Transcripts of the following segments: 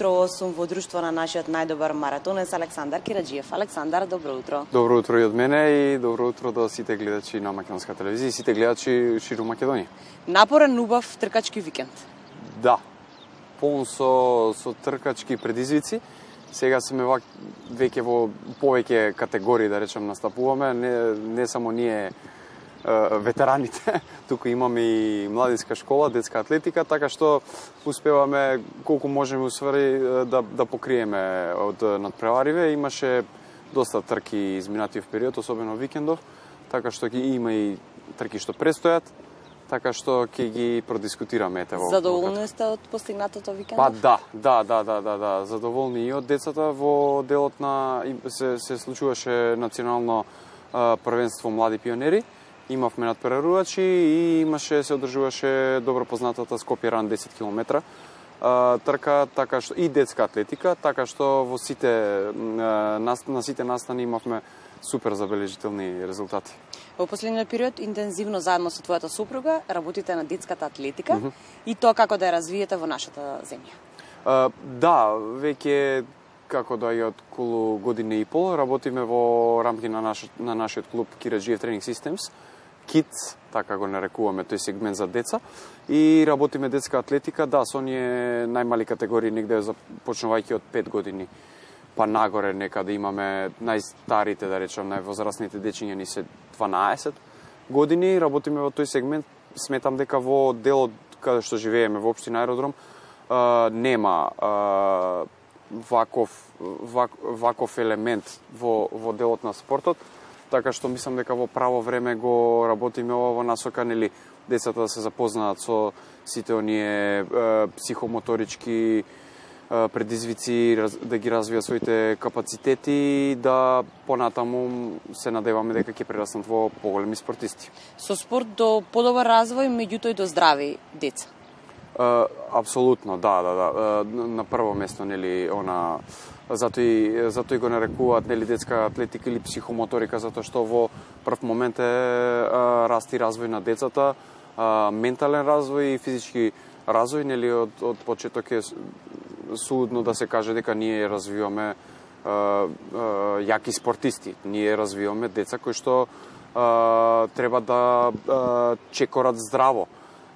утро сум во друштво на нашиот најдобар маратонец Александар Кираџиев. Александар, добро утро. Добро утро и од мене и добро утро до сите гледачи на македонска телевизија и сите гледачи ширум Македонија. Напорен, убав тркачки викенд. Да, полн со тркачки предизвици. Сега сме веќе во повеќе категории, да речем, настапуваме. Не само ние ветераните, туку имаме и младинска школа, детска атлетика, така што успеваме колку можеме усвари да покриеме од надпревариве. Имаше доста трки изминатиот период, особено викендов, така што има и трки што престојат, така што ќе ги продискутираме во. Задоволни сте од постигнатото викендов? Па да, задоволни и од децата. Во делот на се случуваше национално првенство млади пионери. Имавме надпреварувачи и се одржуваше добро познатата Скопје Ран 10 км трка, така што и детска атлетика, така што во на сите настани имавме супер забележителни резултати. Во последниот период интензивно заедно со твојата супруга работите на детската атлетика и тоа како да ја развиете во нашата земја. Да, веќе како да ја од околу година и пол работиме во рамки на нашиот клуб Кираџиев Training Systems, Kids, така го нарекуваме тој сегмент за деца, и работиме детска атлетика, да, со оние најмали категории, негде започнувајќи од 5 години, па нагоре некаде имаме најстарите, да речем, највозрастните дечиња ни се 12 години, работиме во тој сегмент. Сметам дека во делот каде што живееме, во општина Аеродром, нема ваков елемент во делот на спортот, така што мислам дека во право време го работиме во насока, нели, децата да се запознаат со сите оние психомоторички предизвици, да ги развијат своите капацитети и да понатаму се надеваме дека ќе прераснат во поголеми спортисти. Со спорт до подобар развој, меѓутоа и до здрави деца. Апсолутно, да. На прво место, нели, затоа и го нарекуваат, нели, детска атлетика или психомоторика, затоа што во прв момент е расти развој на децата, ментален развој и физички развој, нели, од почеток е судно да се каже дека ние развиваме јаки спортисти. Ние развиваме деца кои што треба да чекорат здраво.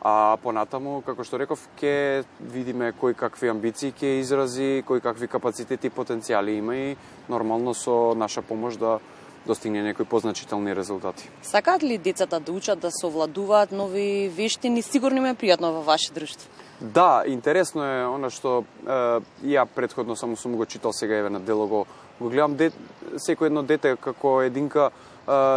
А понатаму, како што реков, ќе видиме кои какви амбиции ќе изрази, кои какви капацитети и потенцијали има и нормално со наша помош да достигне некои позначителни резултати. Сакаат ли децата да учат да совладуваат нови вештини? Сигурно им е пријатно во ваше друштво. Да, интересно е она што ја претходно само сум го читал, сега еве на дело го гледам. Секој едно дете како единка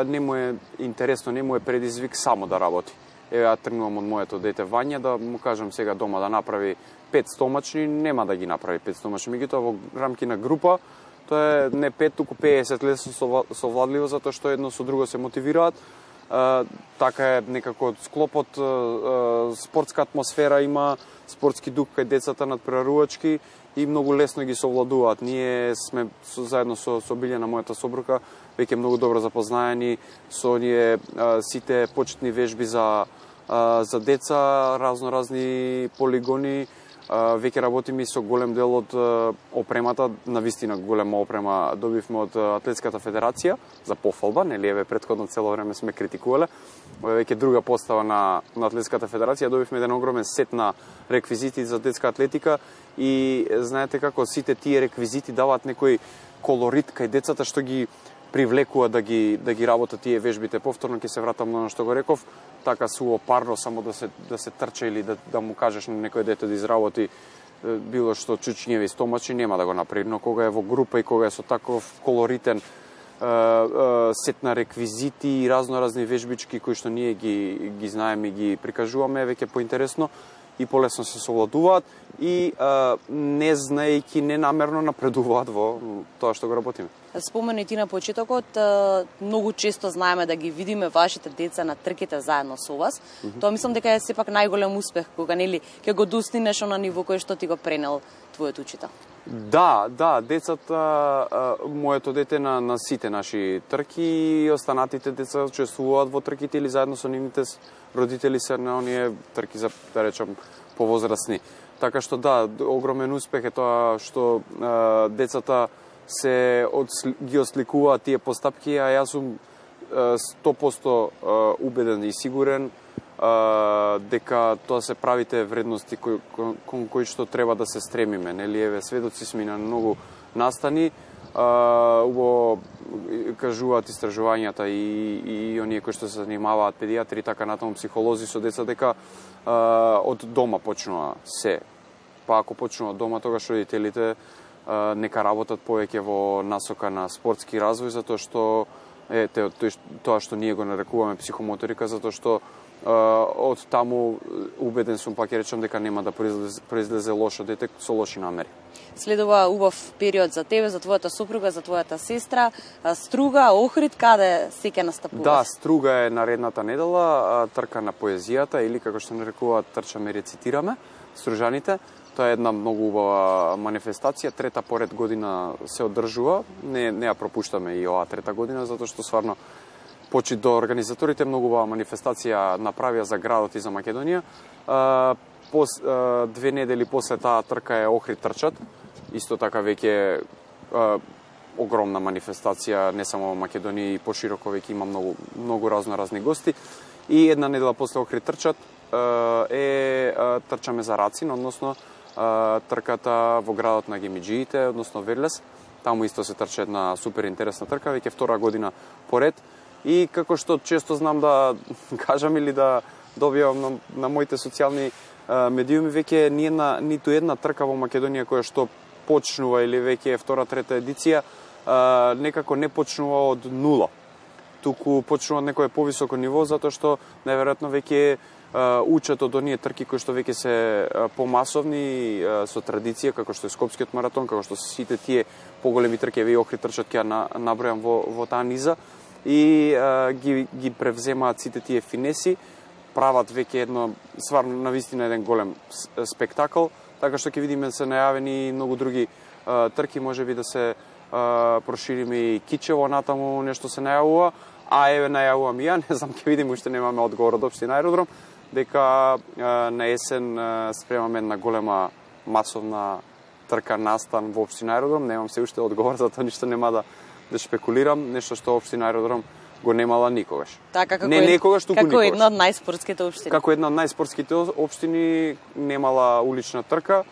не му е интересно, не му е предизвик само да работи. Ја тргнувам од моето дете Вања, да му кажам сега дома да направи 5 стомачни, нема да ги направи 5 стомачни. Меѓутоа во рамки на група, тоа е не 5, туку 50 лесно совладливо, затоа што едно со друго се мотивираат. Така е некако склопот, спортска атмосфера има, спортски дух кај децата надпреварувачки и многу лесно ги совладуваат. Ние сме заедно со Билјана, мојата собрука, веќе многу добро запознаени со оние сите почетни вежби за деца, разни полигони. Веќе работиме со голем дел од опремата, навистина голема опрема добивме од Атлетската федерација за пофалба, нели, еве претходно цело време сме критикувале. Веќе друга постава на Атлетската федерација, добивме еден огромен сет на реквизити за детска атлетика и знаете како сите тие реквизити даваат некој колорит кај децата што ги привлекува да ги работат тие вежбите. Повторно ќе се вратам на оно што го реков, така суопарно само да се трча или да му кажеш на некој дете да изработи било што чучњеви стомачи, нема да го направи, но кога е во група и кога е со таков колоритен сет на реквизити и разни вежбички кои што ние ги знаеме и ги прикажуваме, веќе поинтересно и полесно се совладуваат и не знаејќи ненамерно напредуваат во тоа што го работиме. Спомени ти на почетокот, многу често знаеме да ги видиме вашите деца на трките заедно со вас. Тоа мислам дека е сепак најголем успех кога, нели, ќе го достигнеш на ниво кој што ти го пренел твојот учител. Да, децата, моето дете на сите наши трки и останатите деца учествуваат во трките или заедно со нивните родители се на оние трки за, да речем, повозрастни. Така што да, огромен успех е тоа што децата ги осликуваат тие постапки, а јас сум 100% убеден и сигурен дека тоа се правите вредности кон кои што треба да се стремиме. Нели, еве, сведоци сме на многу настани, убаво кажуваат истражувањата и оние кои што се занимаваат педиатри, така натаму психолози со деца, дека од дома почнува се. Па ако почнува од дома, тогаш родителите нека работат повеќе во насока на спортски развој, затоа што тоа што ние го нарекуваме психомоторика, затоа што од таму убеден сум, пак ќе речам, дека нема да произлезе лошо дете со лоши намери. Следува убав период за тебе, за твојата супруга, за твојата сестра. Струга, Охрид, каде се ќе настапуваш? Да, Струга е наредната недела, трка на поезијата, или како што нарекуваат, трчаме, рецитираме, стружаните. Тоа е една многу убава манифестација, трета поред година се одржува, не ја пропуштаме и оваа трета година, затоа што стварно почит до организаторите многу убава манифестација направија за градот и за Македонија. 2 недели после таа трка е Охрид трчат, исто така веќе огромна манифестација, не само во Македонија, и пошироко веќе има многу разни гости. И една недела после Охрид трчат трчаме за Рацин, односно трката во градот на Гемиџиите, односно Верлес. Таму исто се трча една супер интересна трка, веќе втора година поред. И како што често знам да кажам или да добивам на моите социјални медиуми, веќе ниту една трка во Македонија која што почнува или веќе е втора, трета едиција, некако не почнува од нула. Туку почнува од некое повисоко ниво, затоа што најверојатно веќе учат од оние трки кои што веќе се помасовни, со традиција, како што е Скопскиот маратон, како што се сите тие поголеми трки, и Охрид трчат, ќе набројам во таа низа, и ги превземаат сите тие финеси, прават веќе едно, стварно, навистина еден голем спектакл, така што ќе видиме се најавени многу други трки, можеби да се прошириме и Кичево, натаму нешто се најавува, а еве најавувам и ја, не знам, ќе видиме, уште немаме одговор од општина Аеродром, дека на есен спремаме една голема масовна трка настан во општина Аеродром, немам се уште одговор, затоа ништо нема да шпекулирам, нешто што општина Аеродром го немала никогаш. Така, како никогаш. Една од најспортските општини. Како една од најспортските општини немала улична трка.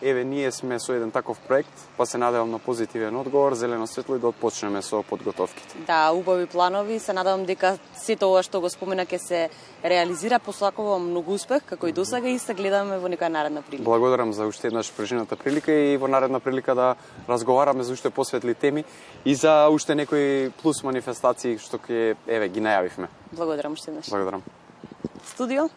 Еве, ние сме со еден таков проект, па се надевам на позитивен одговор, зелено светло, и да отпочнеме со подготовките. Да, убави планови, се надевам дека сето ова што го спомена ќе се реализира, посакувам многу успех, како и досега, и се гледаме во некоја наредна прилика. Благодарам за уште еднаш прежината прилика и во наредна прилика да разговараме за уште посветли теми и за уште некои плюс манифестации што ги најавивме. Благодарам уште еднаш. Благодарам. Студио?